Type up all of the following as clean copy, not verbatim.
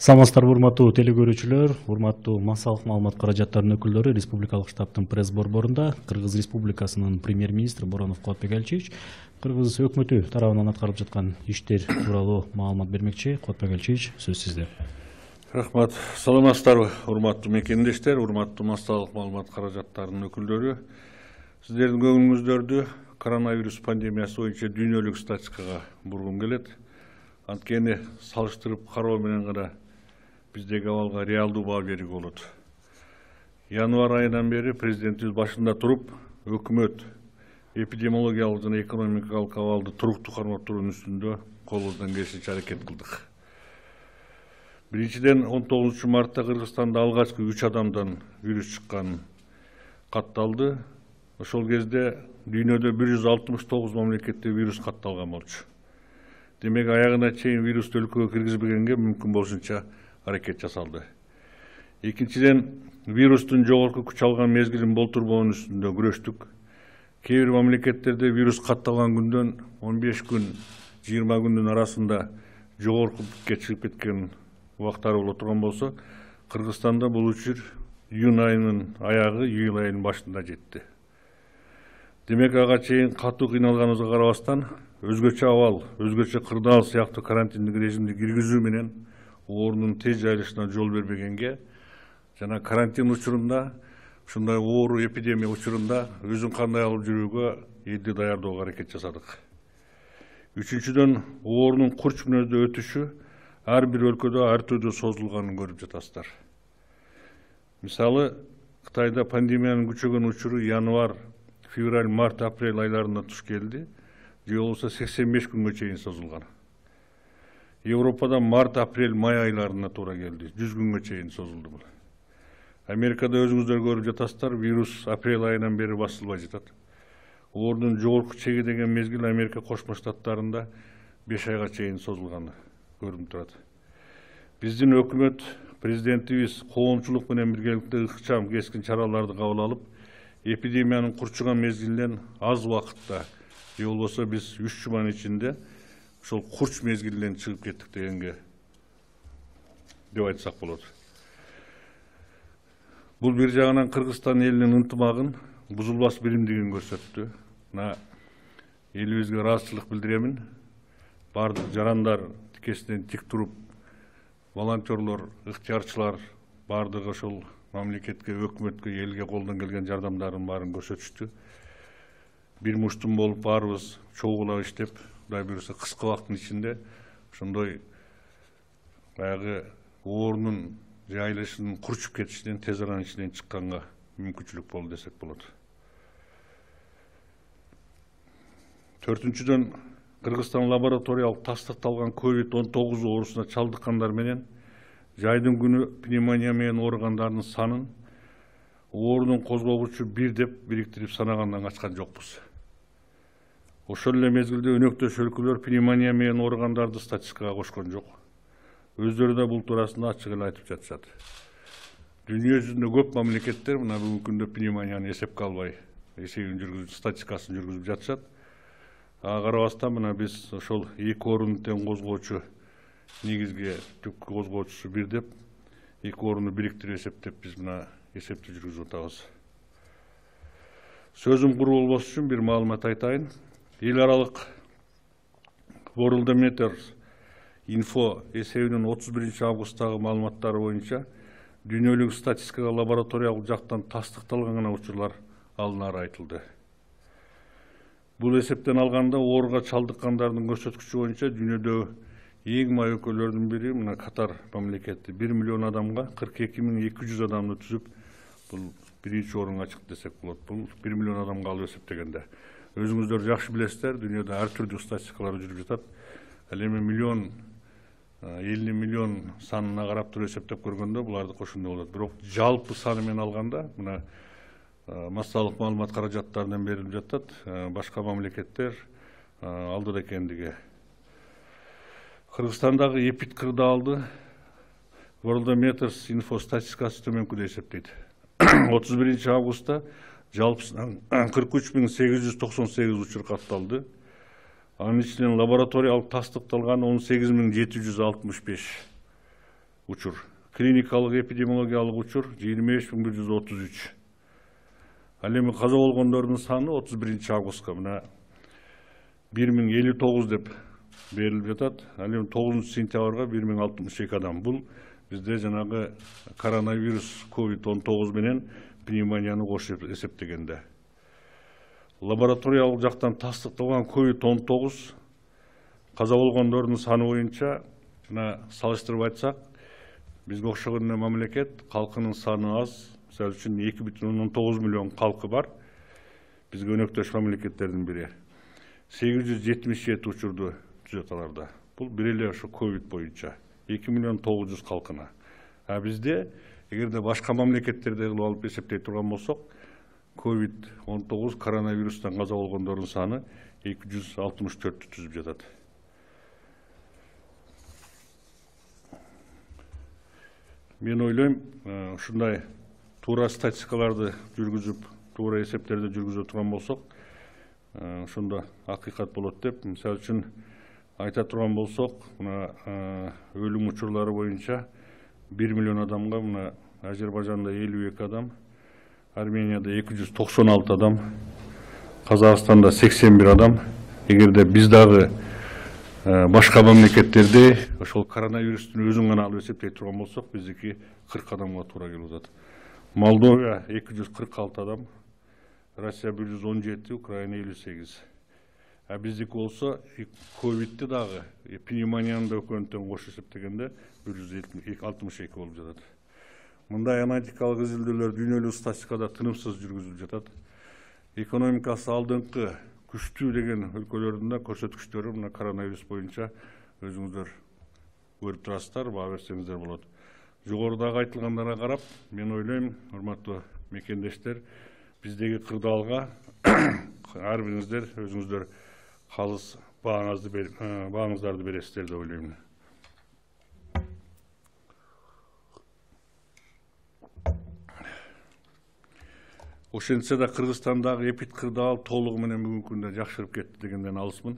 Саламатсыздарбы, урматтуу телекөрүүчүлөр, урматтуу массалык маалымат каражаттарынын өкүлдөрү. Республикалык штабтын пресс борборунда Кыргыз Республикасынын премьер-министри Боронов Кубатбек Алиевич Кыргыз өкмөтү тарабынан аткарылып жаткан иштер тууралуу маалымат бермекчи. Кубатбек Алиевич, сөз сизде. Рахмат. Саламатсыздарбы, урматтуу мекендештер, урматтуу массалык маалымат каражаттарынын өкүлдөрү. Сиздердин көңүлүңүздөрдү коронавирус пандемиясы боюнча дүйнөлүк статистикага бургум келет. Анткени салыштырып кароо менен гана биздеги абалга реалдуу баа берүүгө болот. Январь айынан бери президентибиз башында туруп, өкмөт эпидемиологиялык жана экономикалык абалды туруктуу кармаптыруунун үстүндө колубуздан келишинче аракет кылдык. Биринчиден 19 мартта Кыргызстанда алгачкы 3 адамдан вирус чыкканы катталды. Ошол кезде дүйнөдө 169 мамлекетте вирус катталган болчу. Демек, аягына чейин вирусту өлкөгө киргизбегенге мүмкүн болушунча аракет жасалды. Экинчиден, вирустун жогорку күч алган мезгилин болтурбоонун үстүндө күрөштүк. Кээ бир мамлекеттерде вирус катталган күндөн 15 күн, 20 күндүн арасында жогорку пикке чыгып кеткен убактары боло турган болсо, Кыргызстанда бул учур июнь айынын аягы, июль айынын башында жетти. Демек, ага чейин катуу кыйналганыбызга карабастан, өзгөчө абал, өзгөчө кырдаал сыяктуу карантиндик режимди киргизүү менен оорунун тез жайылышына жол бербегенге жана карантин учурунда, ушундай оору эпидемия учурунда өзүн кандай алып жүрүүгө элди даярдоого аракет жасадык. Үчүнчүдөн, оорунун курч мүнөздө өтүшү ар бир өлкөдө ар түрдүү созулганын көрүп жатасыздар. Мисалы, Кытайда пандемиянын күчөгөн учуру январь, февраль, март, апрель айларында туш келди. Же болбосо 85 күнгө чейин созулган. Европада март, апрель, май айларына туура келди. 100 күнгө чейин созулду бул. Америкада өзүңүздөр көрүп жатасыздар, вирус апрель айынан бери басылбай жатат. Оорунун жогорку чеги деген мезгил Америка Кошмо Штаттарында 5 айга чейин созулганы көрүнүп турат. Биздин өкмөт, президентибиз коомчулук менен биргеликте ыкчам кескин чараларды кабыл алып, эпидемиянын курчуган мезгилинен аз убакытта, же болбосо биз 3 жуманын ичинде ошол курч мезгилинен чыгып кеттик дегенге деп айтсак болот. Бул бир жагынан Кыргызстан элинин ынтымагын, бузулбас биримдигин көрсөттү. Элибизге ыраазычылык билдиремин. Бардык жарандар тикесинен тик туруп, волонтерлор, ыктыярчылар бардыгы ошол мамлекетке, өкмөткө, элге колдон келген жардамдарын баарын көрсөтүштү. Бир муштум болуп баарыбыз чогулап иштеп, Кудай буюрса кыска убакыттын ичинде ошондой баягы оорунун жайылышынын курчуп кетишинен тез аранын ичинен чыкканга мүмкүнчүлүк болду десек болот. Төртүнчүдөн, Кыргызстан лабораториялык тастыкталган COVID-19 оорусуна чалдыккандар менен жайдын күнү пневмония менен ооругандардын санын оорунун козгогучу 1 деп бириктирип санагандан качкан жокпуз. Ошол эле мезгилде өнөктөш өлкөлөр пневмония менен ооругандарды статистикага кошкон жок. Өздөрү да бул туурасында ачык эле айтып жатышат. Дүйнө жүзүндө көп мамлекеттер мына бүгүнкү күндө пневмонияны эсепке албай эсебин жүргүзүп, статистикасын жүргүзүп жатышат. Ага карабастан мына биз ошол 2 оорунун тең козгоочу негизги түпкү козгоочусу 1 деп 2 орунду бириктирип эсептеп биз мына эсепти жүргүзүп атабыз. Сөзүм куру болбош үчүн бир маалымат айтайын. Эл аралык Worldometer Info эсебинин 31 августтагы маалыматтары боюнча дүйнөлүк статистикага лабораториялык жактан тастыкталган гана учурлар алынары айтылды. Бул эсептен алганда ооруга чалдыккандардын көрсөткүчү боюнча дүйнөдө эң май өлкөлөрдүн бири мына Катар мамлекети 1 миллион адамга 42.200 адамды түзүп, бул биринчи орунга чыкты десек болот. Бул 1 миллион адамга алып эсептегенде. Өзүңүздөр жакшы билесиздер, дүйнөдө ар түрдүү статистикалар жүрүп жатат. Ал эми миллион, 50 миллион санына карап туруп эсептеп көргөндө буларды ошондой болот. Бирок жалпы саны менен алганда, мына массалык маалымат каражаттарынан берилип жатат, башка мамлекеттер алдыда экендиги. Кыргызстандагы эпид кырдаалды Worldometer Info статистикасы төмөнкүдөй эсептейт. 31 августта жалпысынан 43.898 учур катталды. Анын ичинен лабораториялык тастыкталган 18.765. учур. Клиникалык эпидемиологиялык учур 25133. Ал эми каза болгондордун саны 31 августка мына 1059 деп берилип жатат. Ал эми 9 сентябрга 1062 адам. Бул бизде жанагы коронавирус COVID-19 менен пневмонияны кошуп эсептегенде. Лабораториялык жактан тастыкталган COVID-19 каза болгондордун саны боюнча мына салыштырып айтсак, бизге окшогон мамлекет калкынын саны аз. Мисалы үчүн 2,9 миллион калкы бар. Бизге өнөктөш мамлекеттердин бири. 877 учурду түзөт аларда. Бул бир эле ошо ковид боюнча 2,9 калкына. А бизде эгерде башка мамлекеттерди кылып алып эсептей турган болсок, COVID-19 коронавирустан каза болгондордун саны 264 түзүп жатат. Мен ойлойм, ушундай туура статистикаларды жүргүзүп, туура эсептерди жүргүзө турган болсок, ошондо акыйкат болот деп. Мисалы үчүн айта турган болсок, мына өлүм учурлары боюнча 1 миллион адамга мына Азербайжанда 52 адам, Арменияда 296 адам, Казакстанда 81 адам. Эгерде биз дагы башка мамлекеттерде ошол коронавирустун өзүн гана алып эсептей турган болсок, биздики 40 адамга туура келип атат. Молдова 246 адам, Россия 117, Украина 58. А биздики болсо ковидти дагы пневмонияны да өкөнтөн кошуп эсептегенде 162 болуп жатат. Мындай аналитикалык изилдөөлөр дүйнөлүк статистикада тынымсыз жүргүзүлүп жатат. Экономикасы алдыңкы күчтүү деген өлкөлөрдүн да көрсөткүчтөрү мына коронавирус боюнча өзүңүздөр көрүп турасыздар, баа берсеңиздер болот. Жогорудагы айтылгандарга карап, мен ойлойм, урматтуу мекендештер, биздеги кырдаалга ар бириңиздер өзүңүздөр калыс бааңыздарды бересиздер деп ойлойм. Ошентсе да Кыргызстандагы эпид кырдаал толугу менен бүгүнкү күндө жакшырып кетти дегенден алысмын.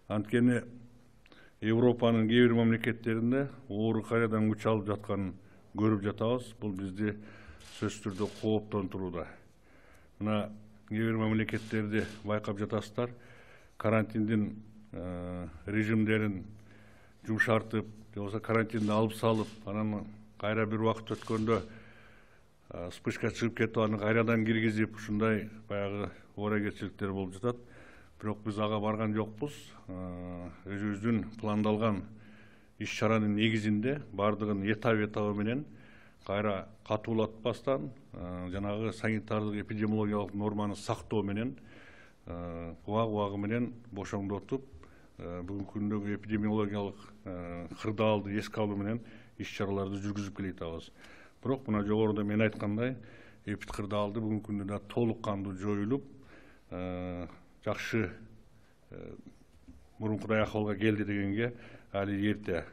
Анткени Европанын кээ бир мамлекеттеринде оору кайрадан күч алып жатканын көрүп жатабыз. Бул бизди сөзсүз түрдө кооптонтурууда. Мына кээ бир мамлекеттерди байкап жатасыздар. Карантиндин режимдерин жумшартып, же болбосо карантинди алып салып, анан кайра бир убакыт өткөндө вспышка чыгып кетип, аны кайрадан киргизип, ушундай баягы ооракерчиликтер болуп жатат. Бирок биз ага барган жокпуз. Өзүбүздүн пландалган иш-чаранын негизинде бардыгын этап менен кайра катуулатпастан, жанагы санитардык эпидемиологиялык норманы сактоо менен убагы менен бошоңдотуп, бүгүнкү күндөгү эпидемиологиялык кырдаалды эске алуу менен иш-чараларды жүргүзүп келе жатабыз. Бирок мына жогоруда мен айткандай, эпид кырдаалды бүгүнкү күндө да толук кандуу жоюлуп, жакшы мурункудай акыбалга келди дегенге али эрте.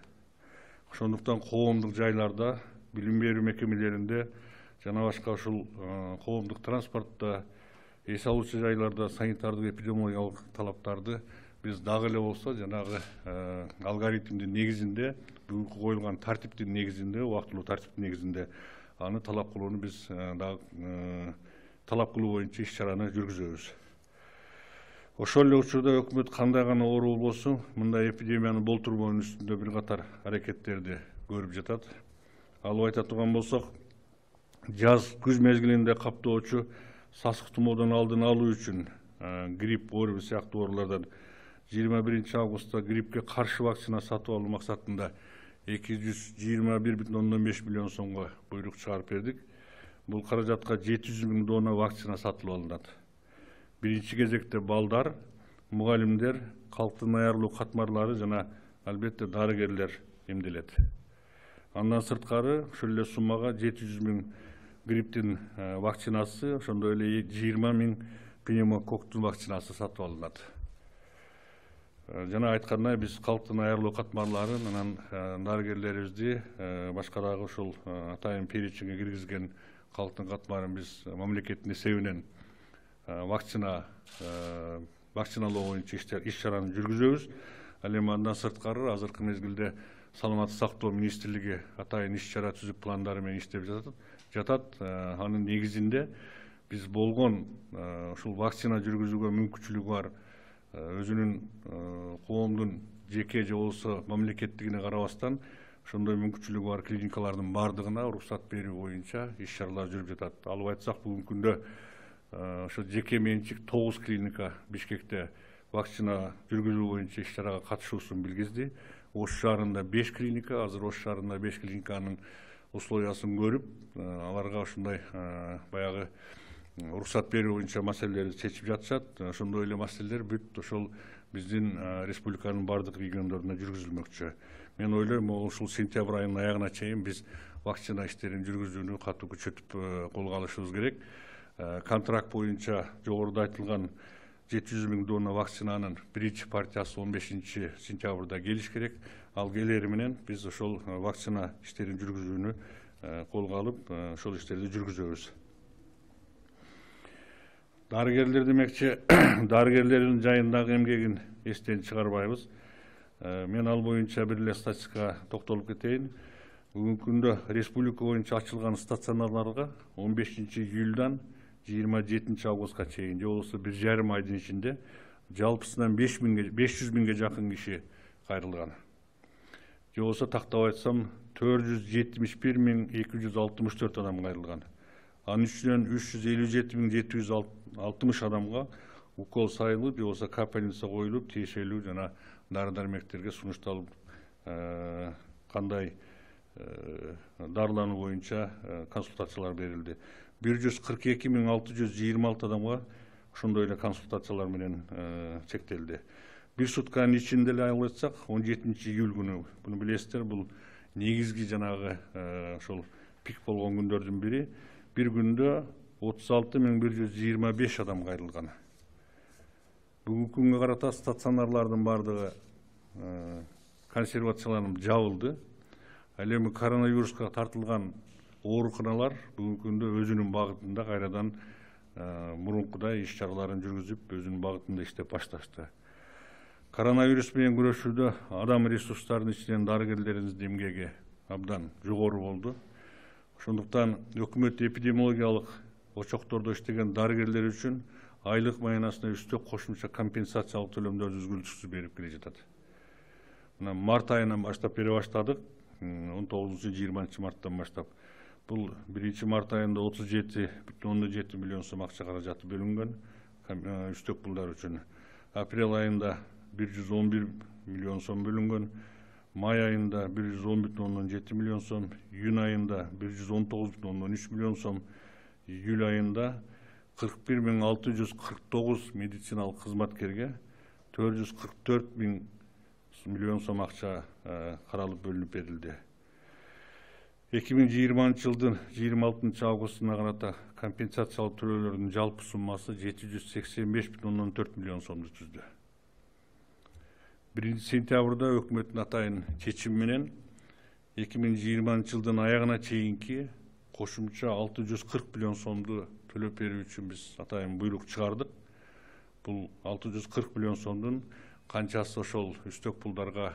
Ошондуктан коомдук жайларда, билим берүү мекемелеринде жана башка ушул коомдук транспортто, эс алуучу жайларда санитардык эпидемиологиялык талаптарды биз дагы эле болсо жанагы алгоритмдин негизинде, бүгүнкү коюлган тартиптин негизинде, убактылуу тартиптин негизинде аны талап кылууну биз дагы талап кылуу боюнча иш-чараны жүргүзөбүз. Ошол эле учурда өкмөт кандай гана оору болбосун, мындай эпидемияны болтурбоонун үстүндө бир катар аракеттерди көрүп жатат. Алып айта турган болсок, жаз күз мезгилинде каптоочу сасык тумоодон алдын алуу үчүн грипп ооруби сыяктуу оорулардан 21 августта гриппке каршы вакцина сатып алуу максатында 221,5 миллион сомго буйрук чыгарып бердик. Бул каражатка 700 000 дона вакцина сатылып алынат. Биринчи кезекте балдар, мугалимдер, калктын аярлуу катмарлары жана албетте дарыгерлер эмделет. Андан сырткары ушул эле суммага 700 000 грипптин вакцинасы, ошондой эле 20 000 пневмококтун вакцинасы сатып алынат. Жана айткандай, биз калктын аярлуу катмарларын, анан дарыгерлерибизди, башка дагы ушул атайын перечинге киргизген калктын катмарын биз мамлекеттин эсебинен вакциналоо боюнча иш-чараны жүргүзөбүз. Ал эми андан сырткары азыркы мезгилде саламаттык сактоо министрлиги атайын иш-чара түзүп пландары менен иштеп жатат. Анын негизинде биз болгон ушул вакцина жүргүзүүгө мүмкүнчүлүгү бар өзүнүн коомдун жеке же болбосо мамлекеттигине карабастан ошондой мүмкүнчүлүгү бар клиникалардын баардыгына уруксат берүү боюнча иш-чаралар жүрүп жатат. Алып айтсак, бүгүнкү күндө ошо жеке менчик 9 клиника Бишкекте вакцина жүргүзүү боюнча иш-чарага катышуусун билгизди. Ош шаарында 5 клиника, азыр Ош шаарында 5 клиниканын условиясын көрүп, аларга ушундай баягы уруксат берүү боюнча маселелерди чечип жатышат. Ошондой эле маселелер бүт ошол биздин республиканын бардык региондорунда жүргүзүлмөкчү. Мен ойлойм, ушул сентябрь айынын аягына чейин биз вакцина иштерин жүргүзүүнү катуу күчөтүп колго алышыбыз керек. Контракт боюнча жогоруда айтылган 700 000 донна вакцинанын биринчи партиясы 15 сентябрда келиш керек. Ал келери менен биз ошол вакцина иштерин жүргүзүүнү колго алып, ошол иштерди жүргүзөбүз. Дарыгерлер демекчи, дарыгерлердин жайындагы эмгегин эстен чыгарбайбыз. Мен ал боюнча бир эле статистикага токтолуп кетейин. Бүгүнкү күндө республика боюнча ачылган стационарларга 15 июлдан 27 августка чейин, же болбосо 1,5 айдын ичинде жалпысынан 500 000ге жакын киши кайрылган. Же болбосо тактап айтсам 471 264 адам кайрылган. Анын ичинен 357 760 адамга укол сайылып, же болбосо капельница коюлуп, тиешелүү жана дары-дармектерге сунушталып, кандай дарылануу боюнча консультациялар берилди. 142 626 адамга ошондой эле консультациялар менен чектелди. Бир сутканын ичинде эле алып айтсак, 17 июль күнү, буну билесиздер, бул негизги жанагы ошол пик болгон күндөрдүн бири. Бир күндө 36 125 адам кайрылган. Бүгүнкү күнгө карата стационарлардын бардыгы консервацияланып жабылды. Ал эми коронавируска тартылган ооруканалар бүгүнкү күндө өзүнүн багытында кайрадан мурункудай иш-чараларын жүргүзүп, өзүнүн багытында иштеп башташты. Коронавирус менен күрөшүүдө адам ресурстарынын ичинен дарыгерлерибиздин эмгеги абдан жогору болду. Ошондуктан өкмөт эпидемиологиялык очоктордо иштеген дарыгерлер үчүн айлык маянасына үстөк кошумча компенсациялык төлөмдөрдү үзгүлтүксүз берип келе жатат. Мына март айынан баштап бере баштадык, 19-20 марттан баштап. Бул 1 март айында 37,7 миллион сом акча каражаты бөлүнгөн үстөк пулдар үчүн. Апрель айында 111 миллион сом бөлүнгөн, май айында 110,7 миллион сом, июнь айында 119,3 миллион сом, июль айында 41 649 медициналык кызматкерге 444 миллион сом акча каралып бөлүнүп берилди. 2020 жылдын 26 августуна карата компенсациялык төлөөлөрдүн жалпы суммасы 785,4 миллион сомду түздү. 1 сентябрда өкмөттүн атайын чечими менен 2020 жылдын аягына чейинки кошумча 640 миллион сомду төлөп берүү үчүн биз атайын буйрук чыгардык. Бул 640 миллион сомдун канчасы ошол үстөк пулдарга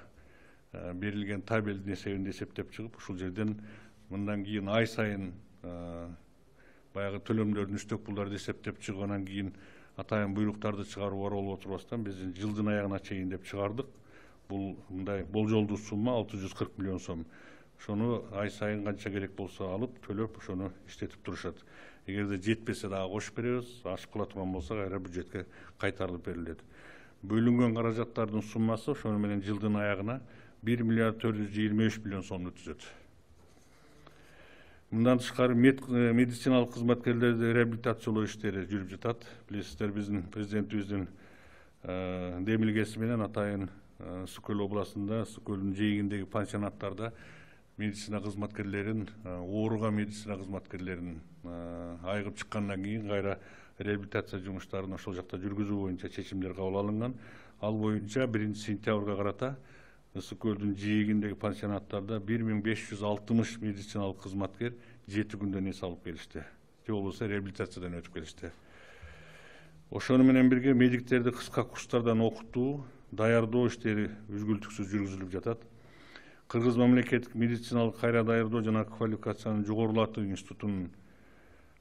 берилген табелдин эсебинде эсептеп чыгып, ушул жерден мындан кийин ай сайын баягы төлөмдөрдүн үстөк пулдарды эсептеп чыгып, анан кийин атайын буйруктарды чыгаруу бар болуп отурбастан биз жылдын аягына чейин деп чыгардык. Бул мындай болжолдуу сумма 640 миллион сом. Ошону ай сайын канча керек болсо алып, төлөп, ошону иштетип турушат. Эгерде жетпесе дагы кошуп беребиз, ашып кала турган болсо кайра бюджетке кайтарылып берилет. Бөлүнгөн каражаттардын суммасы ошону менен жылдын аягына 1 миллиард 423 миллион сомду түзөт. Мындан тышкары медициналык кызматкерлерди реабилитациялоо иштери жүрүп жатат. Билесиздер, биздин президентибиздин демилгеси менен атайын Ысык Көл областында, Ысык Көлдүн жээгиндеги пансионаттарда медицина кызматкерлерин, ооруган медицина кызматкерлерин айыгып чыккандан кийин кайра реабилитация жумуштарын ошол жакта жүргүзүү боюнча чечимдер кабыл алынган. Ал боюнча 1 сентябрга карата Ысык Көлдүн жээгиндеги пансионаттарда 1560 медициналык кызматкер 7 күндөн эс алып келишти. Же болбосо реабилитациядан өтүп келишти. Ошону менен бирге медиктерди кыска курстардан окутуу, даярдоо иштери үзгүлтүксүз жүргүзүлүп жатат. Кыргыз мамлекеттик медициналык кайра даярдоо жана квалификацияны жогорулатуу институтунун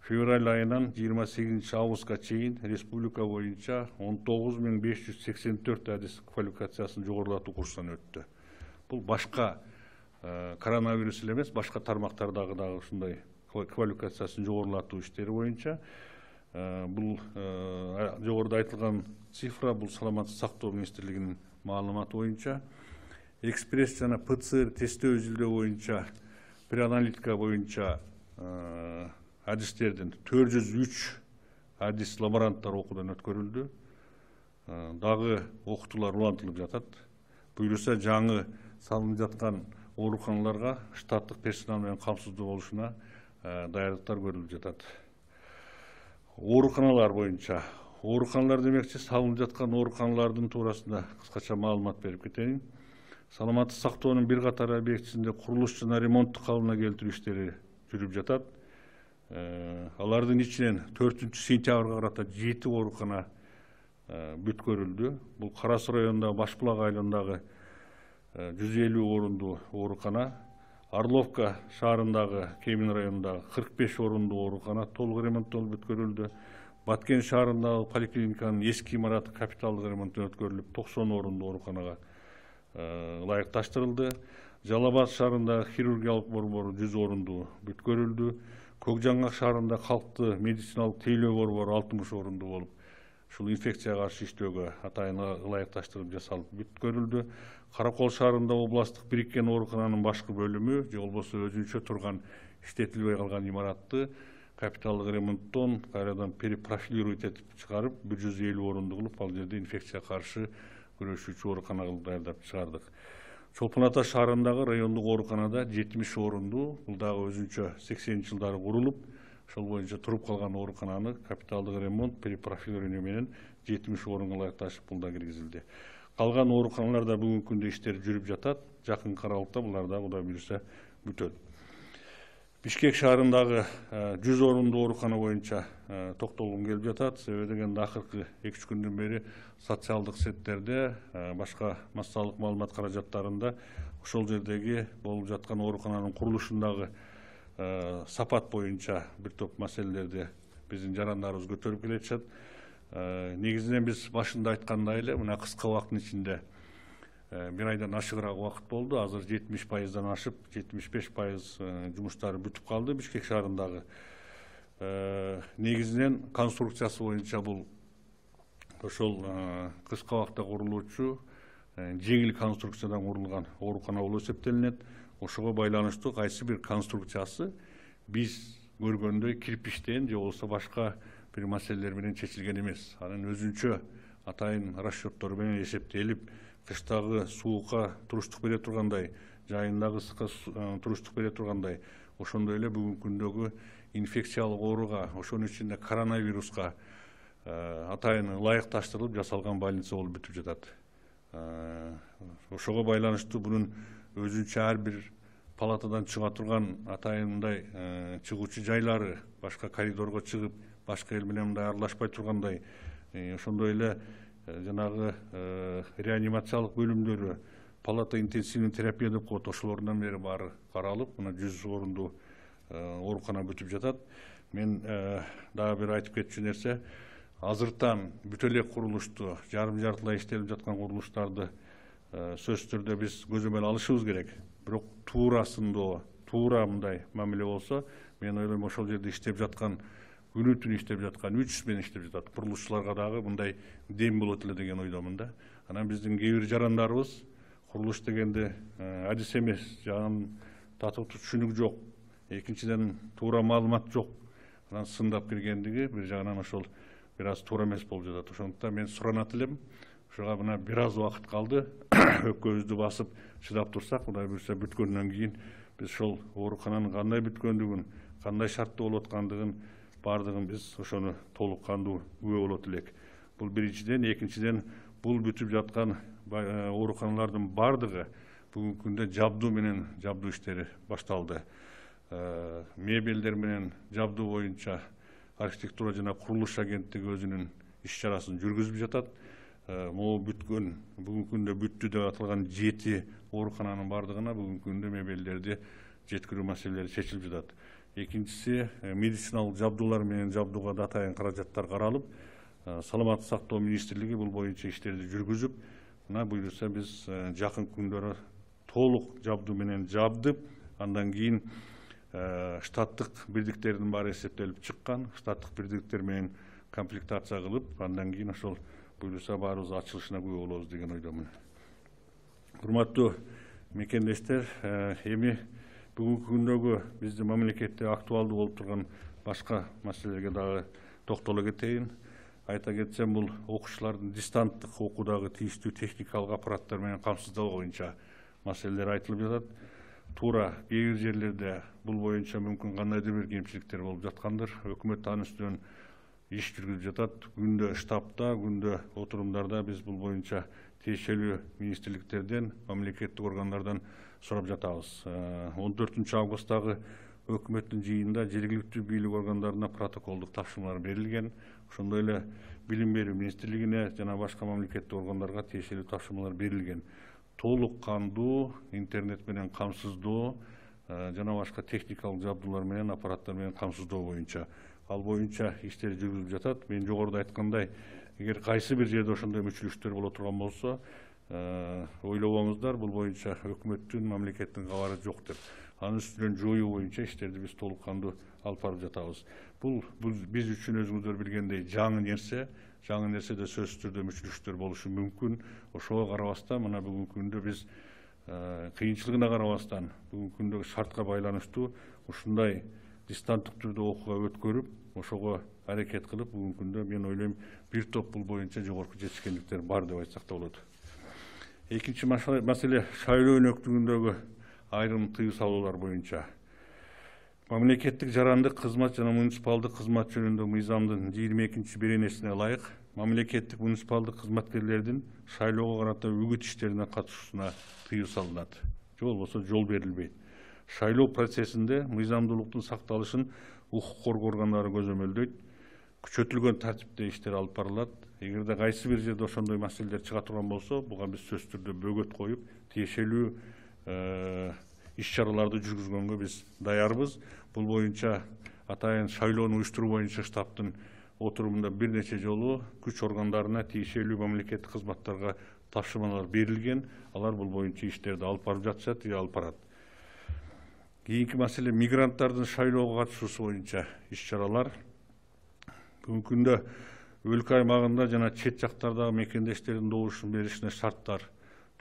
февраль айынан 28 августка чейин республика боюнча 19.584 адис квалификациясын жогорулатуу курсунан өттү. Бул башка коронавирус эле эмес, башка тармактардагы дагы ушундай квалификациясын жогорулатуу иштери боюнча бул жогоруда айтылган цифра бул саламаттык сактоо министрлигинин маалыматы боюнча экспресс жана ПЦР тесттөө изилдөө боюнча преаналитика боюнча адистердин 403 адис лаборанттар окуудан өткөрүлдү. Дагы окутуулар улантылып жатат. Буюрса жаңы салынып жаткан ооруканаларга штаттык персонал менен камсыздуу болушуна даярдыктар көрүлүп жатат. Ооруканалар боюнча ооруканалар демекчи салынып жаткан ооруканалардын туурасында кыскача маалымат берип кетейин. Саламаттык сактоонун бир катар объектисинде курулуш жана ремонттук калыбына келтирүү иштери жүрүп жатат. Алардын ичинен 4 сентябрга карата 7 оорукана бүткөрүлдү. Бул Кара Суу районундагы Башбулак айылындагы 150 орундуу оорукана, Орловка шаарындагы Кемин районундагы 45 орундуу оорукана толук ремонттолуп бүткөрүлдү. Баткен шаарындагы поликлиниканын эски имараты капиталдык ремонттон өткөрүлүп 90 орундуу ооруканага ылайыкташтырылды. Жалал Абад шаарындагы хирургиялык борбору 100 орундуу бүткөрүлдү. Көкжаңгак шаарында калктуу медициналык тейлөө борбору 60 орундуу болуп, ушул инфекцияга каршы иштөөгө атайын ылайыкташтырып жасалып бүткөрүлдү. Каракол шаарында областтык бириккен оорукананын башкы бөлүмү же болбосо өзүнчө турган иштетилбей калган имаратты капиталдык ремонттон кайрадан перепрофилировать этип чыгарып 150 орундуу кылып, ал жерде инфекцияга каршы күрөшүүчү оорукана кылып даярдап чыгардык. Чолпон Ата шаарындагы райондук ооруканада 70 орундуу, бул дагы өзүнчө 80-жылдары курулуп, ошол боюнча туруп калган оорукананы капиталдык ремонт, перепрофилирование менен 70 орунга ылайыкташып бул да киргизилди. Калган ооруканаларда бүгүнкү күндө иштер жүрүп жатат. Жакынкы аралыкта булар да Кудай буюрса бүтөт. Бишкек шаарындагы 100 орундуу оорукана боюнча токтолгум келип жатат. Себеби дегенде акыркы 2-3 күндөн бери социалдык сеттерде, башка массалык маалымат каражаттарында ошол жердеги болуп жаткан оорукананын курулушундагы сапат боюнча бир топ маселелерди биздин жарандарыбыз көтөрүп келатышат. Негизинен биз башында айткандай эле мына кыска убакыттын ичинде бир айдан ашыгыраак убакыт болду. Азыр 70%дан ашып, 75% жумуштары бүтүп калды Бишкек шаарындагы. Негизинен конструкциясы боюнча бул ошол кыска убакытта курулуучу жеңил конструкциядан курулган оорукана болуп эсептелинет. Ошого байланыштуу кайсы бир конструкциясы биз көргөндөй кирпичтен же болбосо башка бир маселелер менен чечилген эмес. Анын өзүнчө атайын расчеттор менен эсептелип, кыштагы суукка туруштук бере тургандай, жайындагы ысыкка туруштук бере тургандай, ошондой эле бүгүнкү күндөгү инфекциялык ооруга, ошонун ичинде коронавируска атайын ылайыкташтырылып жасалган больница болуп бүтүп жатат. Ошого байланыштуу бунун өзүнчө ар бир палатадан чыга турган атайындай чыгуучу жайлары, башка коридорго чыгып, башка эл менен мындай аралашпай тургандай, ошондой эле жанагы реанимациялык бөлүмдөрү, палата интенсивный терапия деп коет, ошолордон бери баары каралып, мына 100 орундуу оорукана бүтүп жатат. Мен дагы бир айтып кетчү нерсе, азыртан бүт эле курулушту, жарым-жартылай иштелип жаткан курулуштарды сөзсүз түрдө биз көзөмөл алышыбыз керек. Бирок туура мындай мамиле болсо, мен ойлойм ошол жерде иштеп жаткан, күнү түнү иштеп жаткан, 300 менен иштеп жатат курулушчуларга дагы мындай дем болот эле деген ойдомун да. Анан биздин кээ бир жарандарыбыз курулуш дегенде адис эмес, жагын татыктуу түшүнүк жок, экинчиден туура маалымат жок, анан сындап киргендиги бир жагынан ошол бир аз туура эмес болуп жатат. Ошондуктан мен суранат элем, ошого мына бир аз убакыт калды, өпкөбүздү басып чыдап турсак, Кудай буюрса бүткөндөн кийин биз ошол оорукананын кандай бүткөндүгүн, кандай шартта болуп аткандыгын бардыгын биз ошону толук кандуу күбө болот элек. Бул биринчиден, экинчиден бул бүтүп жаткан ооруканалардын бардыгы бүгүнкү күндө жабдуу менен жабдуу иштери башталды. Мебелдер менен жабдуу боюнча архитектура жана курулуш агенттиги өзүнүн иш чарасын жүргүзүп жатат. могу бүткөн, бүгүнкү күндө бүттү деп аталган 7 оорукананын бардыгына бүгүнкү күндө мебелдерди жеткирүү маселелери чечилип жатат. Экинчиси, медициналык жабдуулар менен жабдууга да атайын каражаттар каралып, саламаттык сактоо министрлиги бул боюнча иштерди жүргүзүп, мына буюрса биз жакын күндөрү толук жабдуу менен жабдып, андан кийин штаттык бирдиктердин баары эсептелип чыккан, штаттык бирдиктер менен комплектация кылып, андан кийин ошол буюрса баарыбыз ачылышына күбө болобуз деген ойдомун. Урматтуу мекендештер, эми бүгүнкү күндөгү биздин мамлекетте актуалдуу болуп турган башка маселелерге дагы токтоло кетейин. Айта кетсем, бул окуучулардын дистанттык окуудагы тийиштүү техникалык аппараттар менен камсыздоо боюнча маселелер айтылып жатат. Туура кээ бир жерлерде бул боюнча мүмкүн кандайдыр бир кемчиликтер болуп жаткандыр. Өкмөт анын үстүнөн иш жүргүзүп жатат. Күндө штабта, күндө отурумдарда биз бул боюнча тиешелүү министрликтерден, мамлекеттик органдардан сурап жатабыз. 14 августтагы өкмөттүн жыйынында жергиликтүү бийлик органдарына протоколдук тапшырмалар берилген. Ошондой эле билим берүү министрлигине жана башка мамлекеттик органдарга тиешелүү тапшырмалар берилген. Толук кандуу интернет менен камсыздоо жана башка техникалык жабдуулар менен, аппараттар менен камсыздоо боюнча. Ал боюнча иштер жүргүзүлүп жатат. Мен жогоруда айткандай, эгер кайсы бир жерде ошондой мүчүлүштөр боло турган болсо, ойлобоңуздар, бул боюнча өкмөттүн, мамлекеттин кабары жок деп. Анын үстүнөн жоюу боюнча иштерди биз толук кандуу алып барып жатабыз. Бул биз үчүн өзүңүздөр билгендей жаңы нерсе. Жаңы нерседе сөзсүз түрдө мүчүлүштөр болушу мүмкүн. Ошого карабастан, мына бүгүнкү күндө биз кыйынчылыгына карабастан, бүгүнкү күндөгү шартка байланыштуу ушундай дистанттык түрдө окууга өткөрүп, ошого аракет кылып, бүгүнкү күндө мен ойлойм бир топ бул боюнча жогорку жетишкендиктер бар деп айтсак да болот. Экинчи маселе шайлоо өнөктүгүндөгү айрым тыюу салуулар боюнча. Мамлекеттик жарандык кызмат жана муниципалдык кызмат жөнүндө мыйзамдын 22-беренесине ылайык мамлекеттик муниципалдык кызматкерлердин шайлоого карата үгүт иштерине катышуусуна тыюу салынат. Же болбосо жол берилбейт. Шайлоо процессинде мыйзамдуулуктун сакталышын укук коргоо органдары көзөмөлдөйт. Күчөтүлгөн тартипте иштер алып барылат. Эгерде кайсы бир жерде ошондой маселелер чыга турган болсо, буга биз сөзсүз түрдө бөгөт коюп, тиешелүү иш-чараларды жүргүзгөнгө биз даярбыз. Бул боюнча атайын шайлоону уюштуруу боюнча штабтын отурумунда бир нече жолу күч органдарына, тиешелүү мамлекеттик кызматтарга тапшырмалар берилген. Алар бул боюнча иштерди алып барып жатышат, алып барат. Кийинки маселе мигранттардын шайлоого катышуусу боюнча иш-чаралар. Бүгүнкү күндө өлкө аймагында жана чет жактардагы мекендештердин добушун беришине шарттар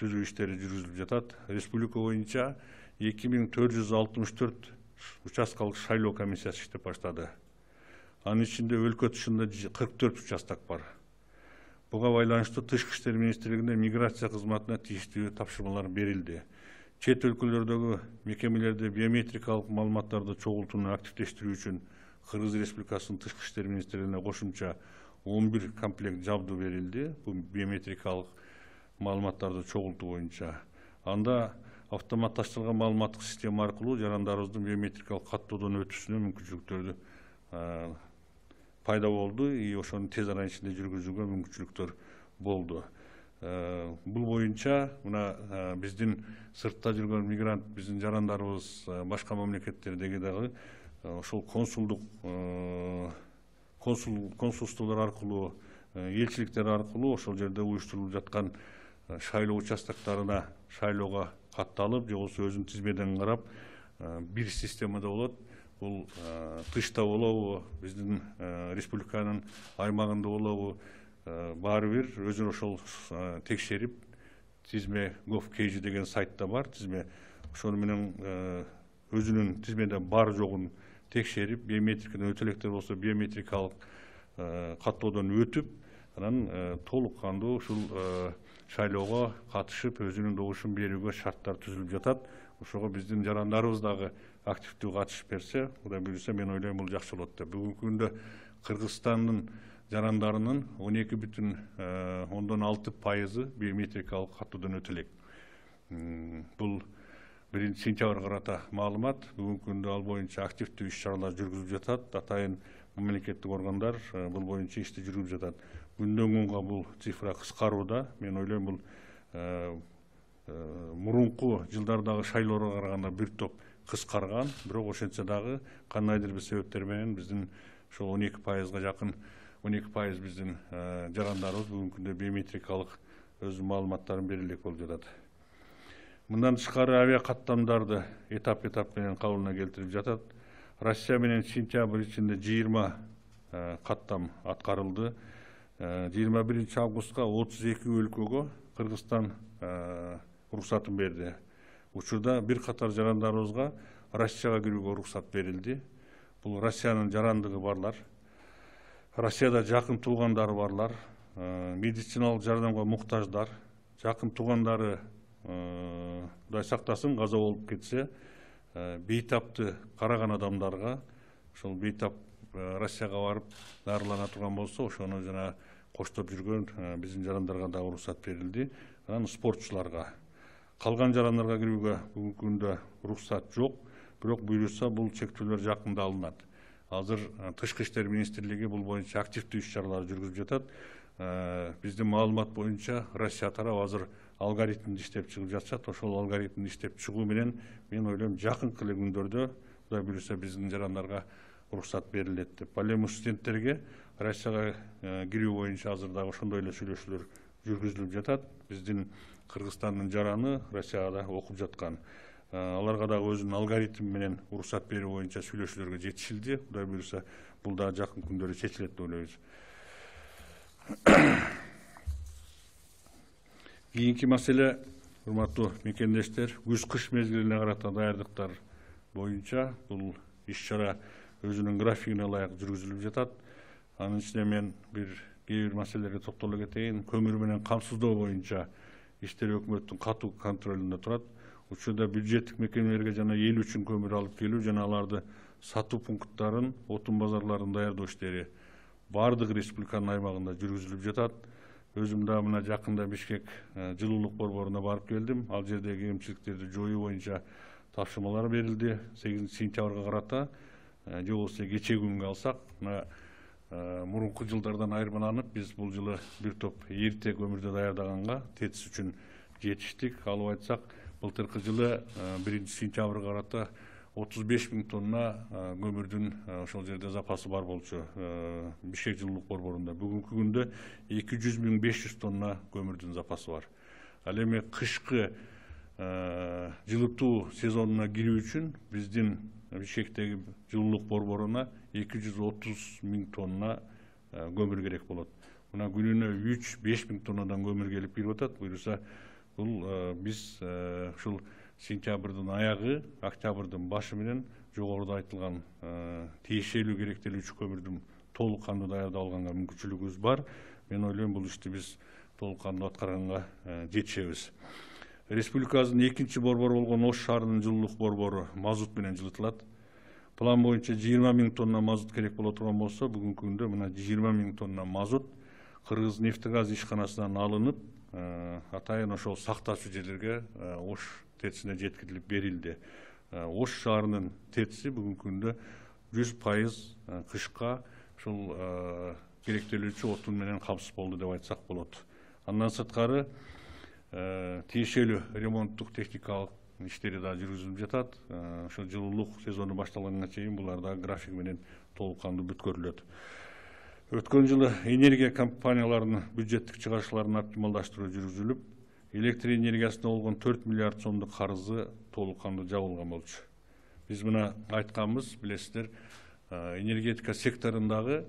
түзүү иштери жүргүзүлүп жатат. Республика боюнча 2464 участкалык шайлоо комиссиясы иштеп баштады. Анын ичинде өлкө тышында 44 участок бар. Буга байланыштуу Тышкы иштер министрлигине миграция кызматына тийиштүү тапшырмалар берилди. Чет өлкөлөрдөгү мекемелерде биометрикалык маалыматтарды чогултууну активдештирүү үчүн Кыргыз Республикасынын Тышкы иштер министрлигине кошумча 11 комплект жабдуу берилди. Бул биометрикалык маалыматтарды чогултуу боюнча. Анда автоматташтырылган маалыматтык система аркылуу жарандарыбыздын биометрикалык каттоодон өтүүсүнө мүмкүнчүлүктөрдү пайда болду. Ошону тез арада ичинде жүргүзүүгө мүмкүнчүлүктөр болду. Бул боюнча мына биздин сыртта жүргөн мигрант, биздин жарандарыбыз башка мамлекеттердеги дагы ошол консулстволор аркылуу, элчиликтер аркылуу ошол жерде уюштурулуп жаткан шайлоо участоктарына шайлоого катталып, же болбосо өзүнүн тизмеден карап, бир системада болот. Бул тышта болобу, биздин республиканын аймагында болобу, баары бир өзүн ошол текшерип, тизме gov.kg деген сайтта бар, тизме ошону менен өзүнүн тизмеде бар жогун текшерип, биометрикадан өтө электер болсо биометрикалык каттоодон өтүп, анан толук кандуу ушул шайлоого катышып, өзүнүн добушун берүүгө шарттар түзүлүп жатат. Ошого биздин жарандарыбыз дагы активдүү катышып берсе, Кудай буйруса, мен ойлойм бул жакшы болот деп. Бүгүнкү күндө Кыргызстандын жарандарынын 12,6% биометрикалык каттоодон өтө элек. Бул 1-сентябрга карата маалымат. Бүгүнкү күндө ал боюнча активдүү иш-чаралар жүргүзүлүп жатат. Атайын мамлекеттик органдар бул боюнча ишти жүргүзүп жатат. күндөн күнгө бул цифра кыскарууда. Мен ойлойм бул мурунку жылдардагы шайлоого караганда бир топ кыскарган, бирок ошентсе дагы кандайдыр бир себептер менен биздин ошол 12%га жакын 12% биздин жарандарыбыз бүгүнкү күндө биометрикалык өзүнүн маалыматтарын бере элек болуп жатат. Мындан тышкары авиа каттамдарды этап менен кабылына келтирип жатат. Россия менен сентябрь ичинде 20 каттам аткарылды. 21 августка 32 өлкөгө Кыргызстан уруксатын берди. Учурда бир катар жарандарыбызга Россияга кирүүгө уруксат берилди. Бул Россиянын жарандыгы барлар, Россияда жакын туугандары барлар, медициналык жардамга муктаждар, жакын туугандары Кудай сактасын каза болуп кетсе, бейтапты караган адамдарга, ошол бейтап Россияга барып дарылана турган болсо, ошону жана коштоп жүргөн биздин жарандарга да уруксат берилди. Анан спортчуларга, калган жарандарга кирүүгө бүгүнкү күндө уруксат жок, бирок буюрса бул чектөөлөр жакында алынат. Азыр Тышкы иштер министрлиги бул боюнча активдүү иш-чаралар жүргүзүп жатат. Биздин маалымат боюнча Россия тарабы азыр алгоритмди иштеп чыгып жатышат. Ошол алгоритмди иштеп чыгуу менен мен ойлойм жакынкы эле күндөрдө Кудай буюрса биздин жарандарга уруксат берилет деп. Ал эми студенттерге Россияга кирүү боюнча азыр дагы ошондой эле сүйлөшүүлөр жүргүзүлүп жатат. Биздин Кыргызстандын жараны Россияда окуп жаткан. Аларга дагы өзүнүн алгоритм менен уруксат берүү боюнча сүйлөшүүлөргө жетишилди. Кудай буюрса бул да жакын күндөрдө чечилет деп ойлойбуз. Кийинки маселе, урматтуу мекендештер, күз-кыш мезгилине карата даярдыктар боюнча бул иш-чара өзүнүн графигине ылайык жүргүзүлүп жатат. Анын ичинде мен кээ бир маселелерге токтоло кетейин. Көмүр менен камсыздоо боюнча иштер өкмөттүн катуу контролунда турат. Учурда бюджеттик мекемелерге жана эл үчүн көмүр алып келүү жана аларды сатуу пункттарын, отун базарларын даярдоо иштери бардык республиканын аймагында жүргүзүлүп жатат. Өзүм да мына жакында Бишкек жылуулук борборуна барып келдим. Ал жердеги кемчиликтерди жоюу боюнча тапшырмалар берилди. 8 сентябрга карата, же болбосо кечеги күнгө алсак, мына мурунку жылдардан айырмаланып, биз бул жылы бир топ эрте көмүрдү даярдаганга ТЭЦ үчүн жетиштик. Алып айтсак, былтыркы жылы 1 сентябрга карата 35 000 тонна көмүрдүн ошол жерде запасы бар болчу Бишкек жылуулук борборунда. Бүгүнкү күндө 200 500 тонна көмүрдүн запасы бар. Ал эми кышкы жылытуу сезонуна кирүү үчүн биздин Бишкектеги жылуулук борборуна 230 000 тонна көмүр керек болот. Мына күнүнө 3-5 000 тоннадан көмүр келип кирип атат. Буюрса бул биз ушул сентябрдын аягы, октябрдын башы менен жогоруда айтылган тиешелүү керектелүүчү көмүрдүн толук кандуу даярдап алганга мүмкүнчүлүгүбүз бар. Мен ойлойм бул ишти биз толук кандуу аткарганга жетишебиз. Республикабыздын экинчи борбору болгон Ош шаарынын жылуулук борбору мазут менен жылытылат. План боюнча 20 000 тонна мазут керек боло турган болсо, бүгүнкү күндө мына 20 000 тонна мазут Кыргыз нефтегаз ишканасынан алынып, атайын ошол сактаочу жерлерге Ош ТЭЦине жеткирилип берилди. Ош шаарынын ТЭЦи бүгүнкү күндө 100% кышка ушул керектелүүчү отун менен камсыз болду деп айтсак болот. Андан сырткары тиешелүү ремонттук техникалык иштери да жүргүзүлүп жатат. Ошо жылуулук сезону башталганга чейин булар да график менен толук кандуу бүткөрүлөт. Өткөн жылы энергия компанияларынын бюджеттик чыгарышларын оптималдаштыруу жүргүзүлүп, электр энергиясына болгон 4 миллиард сомдук карызы толук кандуу жабылган болчу. Биз мына айтканбыз, билесиздер, энергетика секторундагы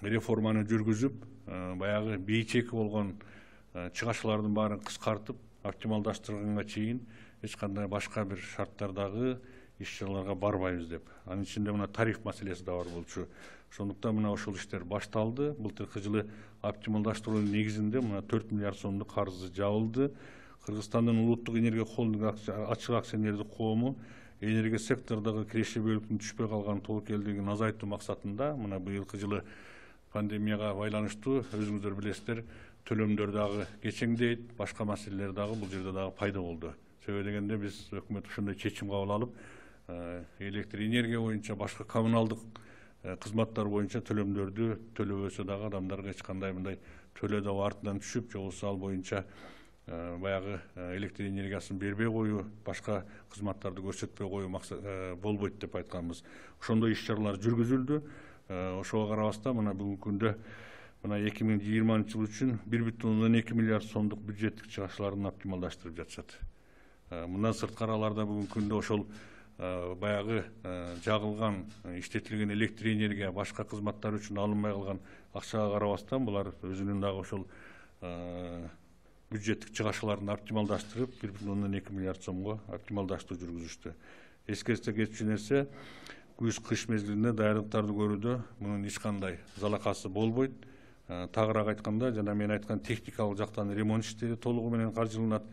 реформаны жүргүзүп, баягы бейчеки болгон чыгашылардын баарын кыскартып, оптималдаштырганга чейин эч кандай башка бир шарттардагы иш-чараларга барбайбыз деп. Анын ичинде мына тариф маселеси да бар болчу. Ошондуктан мына ошол иштер башталды. Былтыркы жылы оптималдаштыруунун негизинде мына 4 миллиард сомдук карызы жабылды. Кыргызстандын улуттук энергия холдинг ачык акционердик коому энергия сектордогу киреше бөлүктүн түшпөй калган тобокелдигин азайтуу максатында мына быйылкы жылы пандемияга байланыштуу өзүңүздөр билесиздер, төлөмдөр дагы кечеңдейт, башка маселелер дагы бул жерде дагы пайда болду. Себеби дегенде биз өкмөт ошондой чечим кабыл алып, электр энергия боюнча башка коммуналдык кызматтар боюнча төлөмдөрдү төлөбөсө дагы адамдарга эч кандай мындай төлөө да артынан түшүп, же болбосо ал боюнча баягы электр энергиясын бербей коюу, башка кызматтарды көрсөтпөй коюу болбойт деп айтканбыз. Ошондой иш-чаралар жүргүзүлдү. Ошого карабастан мына бүгүнкү күндө мына 2020 жыл үчүн 1,2 миллиард сомдук бюджеттик чыгышларын оптималдаштырып жатышат. Мындан сырткары аларда бүгүнкү күндө ошол баягы жагылган, иштетилген электр энергия башка кызматтар үчүн алынбай калган акчага карабастан булар өзүнүн дагы ошол бюджеттик чыгышларын оптималдаштырып 1,2 миллиард сомго оптималдаштыруу жүргүзүштү. Эскерсе кетчү нерсе, күз-кыш мезгилинде даярдыктарды көрүүдө мунун эч кандай залакасы болбойт. Тагыраак айтканда, жана мен айткан техникалык жактан ремонт иштери толугу менен каржыланат.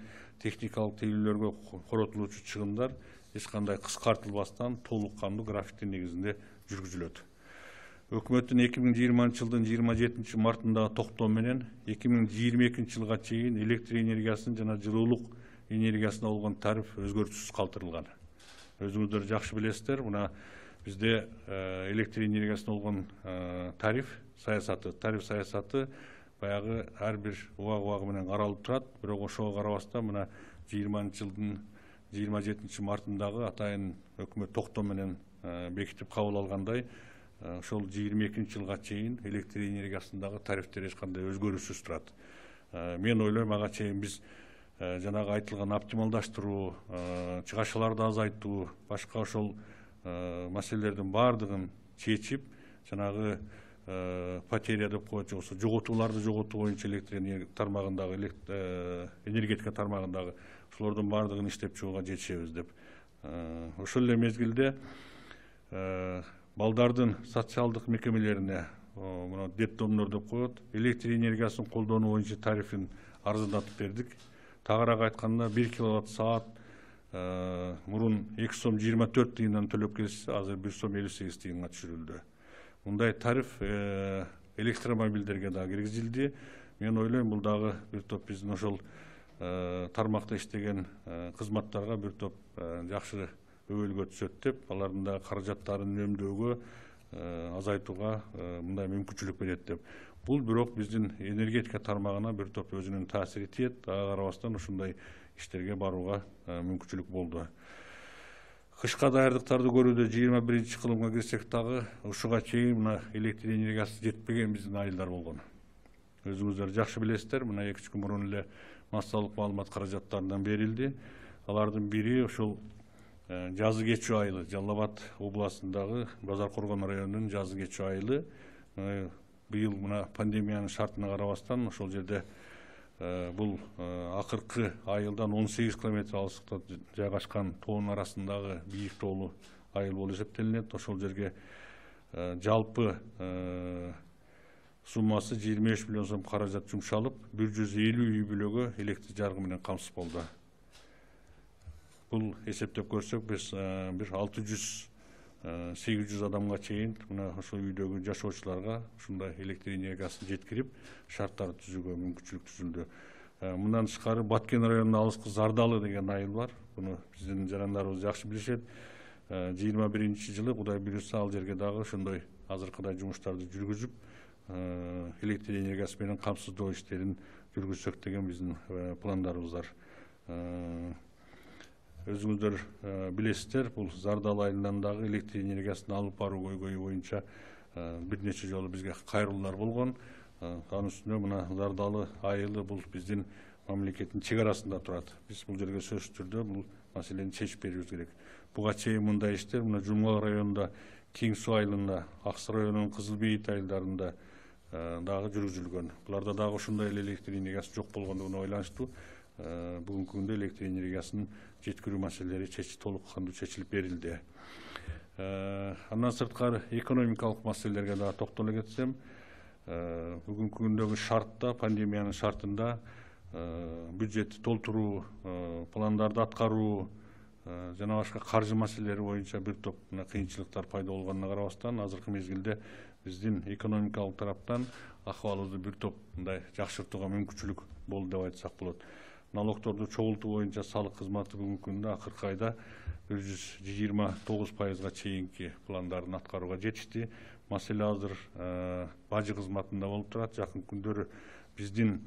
Техникалык тейлөөлөргө коротулуучу чыгымдар эч кандай кыскартылбастан толук кандуу графиктин негизинде жүргүзүлөт. Өкмөттүн 2020 жылдын 27 мартындагы токтоо менен 2022 жылга чейин электр энергиясын жана жылуулук энергиясына болгон тариф өзгөртүүсүз калтырылган. Өзүңүздөр жакшы билесиздер, мына бизде электр энергиясына болгон тариф саясаты баягы ар бир убагы менен каралып турат. Бирок ошого карабастан мына 20 жылдын 27 мартындагы атайын өкмөт токтоо менен бекитип кабыл алгандай, ошол 22 жылга чейин электр энергиясындагы тарифтер эч кандай өзгөрүүсүз турат. Мен ойлойм, ага чейин биз жанагы айтылган оптималдаштыруу, чыгашаларды азайтуу, башка ошол маселелердин баардыгын чечип, жанагы потеря деп коет, же болбосо жоготууларды жоготуу боюнча электр энергетика тармагындагы ошолордун баардыгын иштеп чыгууга жетишебиз деп. Ошол эле мезгилде балдардын социалдык мекемелерине, мына детдомдор деп коет, электр энергиясын колдонуу боюнча тарифин арзандатып бердик. Тагыраак айтканда 1 киловатт саат мурун 2 сом 24 тыйындан төлөп келсе, азыр 1 сом 58 тыйынга түшүрүлдү. Мындай тариф электромобилдерге да киргизилди. Мен ойлойм, бул дагы бир топ биздин ошол тармакта иштеген кызматтарга бир топ жакшы өбөлгө түшөт деп, алардын да каражаттарын үнөмдөөгө, азайтууга мындай мүмкүнчүлүк берет деп. Бул бирок биздин энергетика тармагына бир топ өзүнүн таасири тиет. Ага карабастан ушундай иштерге барууга мүмкүнчүлүк болду. Кышка даярдыктарды көрүүдө 21 кылымга кирсек дагы ушуга чейин мына электр энергиясы жетпеген биздин айылдар болгон. Өзүңүздөр жакшы билесиздер, мына 2 күн мурун эле массалык маалымат каражаттарынан берилди. Алардын бири ошол жазы кечүү айылы, Жалал Абад областындагы Базар Коргон районунун жазы кечүү айылы. Быйыл мына пандемиянын шартына карабастан ошол жерде бул акыркы айылдан 18 километр алыстыкта жайгашкан тоонун арасындагы бийик тоолуу айыл болуп эсептелинет. Ошол жерге жалпы суммасы 25 миллион сом каражат жумшалып, 150 үй бүлөгө электр жарыгы менен камсыз болду. Бул эсептеп көрсөк, биз бир 600-800 адамга чейин мына ошол үйдөгү жашоочуларга ушундай электр энергиясын жеткирип, шарттар түзүүгө мүмкүнчүлүк түзүлдү. Мындан тышкары Баткен районунда алыскы Зардалы деген айыл бар. Буну биздин жарандарыбыз жакшы билишет. 21 жылы Кудай буйрса ал жерге дагы ошондой азыркыдай жумуштарды жүргүзүп, электр энергиясы менен камсыздоо иштерин жүргүзсөк деген биздин пландарыбыз бар. Өзүңүздөр билесиздер, бул Зардалы айылынан дагы электр энергиясын алып баруу көйгөйү боюнча бир нече жолу бизге кайрылуулар болгон. Анын үстүнө мына Зардалы айылы бул биздин мамлекеттин чек арасында турат. Биз бул жерге сөзсүз түрдө бул маселени чечип берүүбүз керек. Буга чейин мындай иштер мына Жумгал районунда, Кең Суу айылында, Аксы районунун Кызыл Бейит айылдарында дагы жүргүзүлгөн. Буларда дагы ошондой эле электр энергиясы жок болгондугуна байланыштуу бүгүнкү күндө электр энергиясынын жеткирүү маселелери толук кандуу чечилип берилди. Андан сырткары экономикалык маселелерге дагы токтоло кетсем, бүгүнкү күндөгү шартта, пандемиянын шартында бюджетти толтуруу, пландарды аткаруу жана башка каржы маселелери боюнча бир топ кыйынчылыктар пайда болгонуна карабастан, азыркы мезгилде биздин экономикалык тараптан акыбалыбызды бир топ мындай жакшыртууга мүмкүнчүлүк болду деп айтсак болот. Налогторду чогултуу боюнча салык кызматы бүгүнкү күндө акыркы айда 129%га чейинки пландарын аткарууга жетишти. маселе азыр бажы кызматында болуп турат. Жакын күндөрү биздин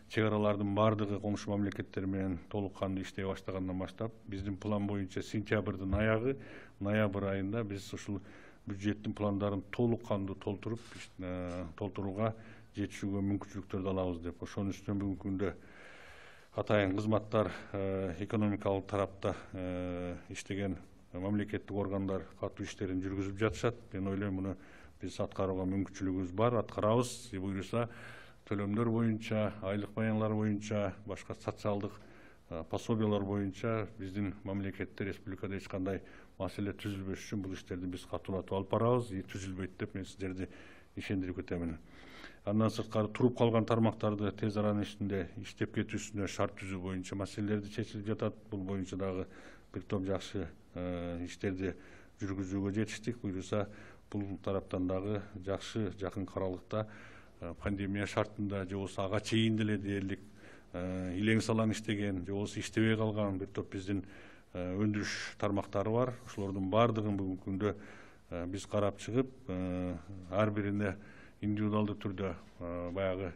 чек аралардын баардыгы коңшу мамлекеттер менен толук кандуу иштей баштагандан баштап биздин план боюнча сентябрдын аягы, ноябрь айында биз ушул бюджеттин пландарын толук кандуу толтурууга жетишүүгө мүмкүнчүлүктөрдү алабыз деп. Ошонун үстүнө бүгүнкү күндө атайын кызматтар экономикалык тарапта иштеген мамлекеттик органдар катуу иштерин жүргүзүп жатышат. Мен ойлойм муну биз аткарууга мүмкүнчүлүгүбүз бар, аткарабыз. Буюрса төлөмдөр боюнча, айлык баяндар боюнча, башка социалдык пособиялар боюнча биздин мамлекетте, республикада эч кандай маселе түзүлбөш үчүн бул иштерди биз катуулатып алып барабыз. Түзүлбөйт деп мен сиздерди ишендирип кетемин. Андан сырткары туруп калган тармактарды тез аранын ичинде иштеп кетүүсүнө шарт түзүү боюнча маселелерди чечилип жатат. Бул боюнча дагы бир топ жакшы иштерди жүргүзүүгө жетиштик. Буюрса бул тараптан дагы жакшы жакынкы аралыкта пандемия шартында же болбосо ага чейин деле дээрлик илең салаң иштеген же болбосо иштебей калган бир топ биздин өндүрүш тармактары бар. Ошолордун баардыгын бүгүнкү күндө биз карап чыгып, ар бирине индивидуалдуу түрдө баягы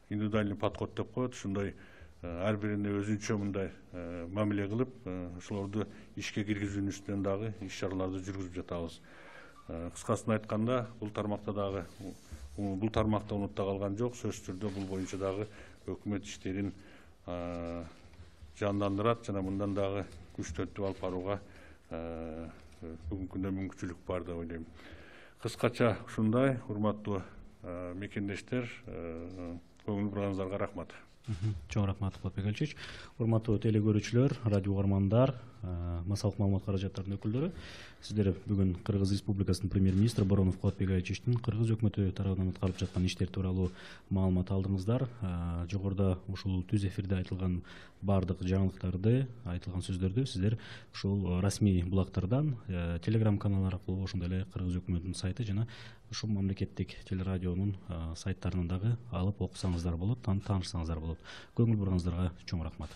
индивидуальный подход деп коет, ушундай ар бирине өзүнчө мындай мамиле кылып, ошолорду ишке киргизүүнүн үстүнөн дагы иш чараларды жүргүзүп жатабыз. Кыскасын айтканда, бул тармакта унутта калган жок. Сөзсүз түрдө бул боюнча дагы өкмөт иштерин жандандырат жана мындан дагы күчтөнтүп алып барууга бүгүнкү күндө мүмкүнчүлүк бар деп ойлойм. Кыскача ушундай, урматтуу мекендештер, көңүл бурганыңыздарга рахмат. Чоң рахмат Кулатбек Алчевич. Урматтуу теле көрүүчүлөр, радио угармандар, массалык маалымат каражаттарынын өкүлдөрү, сиздер бүгүн Кыргыз Республикасынын премьер-министри Боронов Кулатбек Алчевичтин кыргыз өкмөтү тарабынан аткарылып жаткан иштер тууралуу маалымат алдыңыздар. Жогоруда ушул түз эфирде айтылган баардык жаңылыктарды, айтылган сөздөрдү сиздер ушул расмий блогтордон, телеграм канал аркылуу, ошондой эле Кыргыз өкмөтүнүн сайты жана ушул мамлекеттик телерадионун сайттарынан дагы алып окусаңыздар болот, таанышсаңыздар болот. Көңүл бурганыңыздарга чоң рахмат.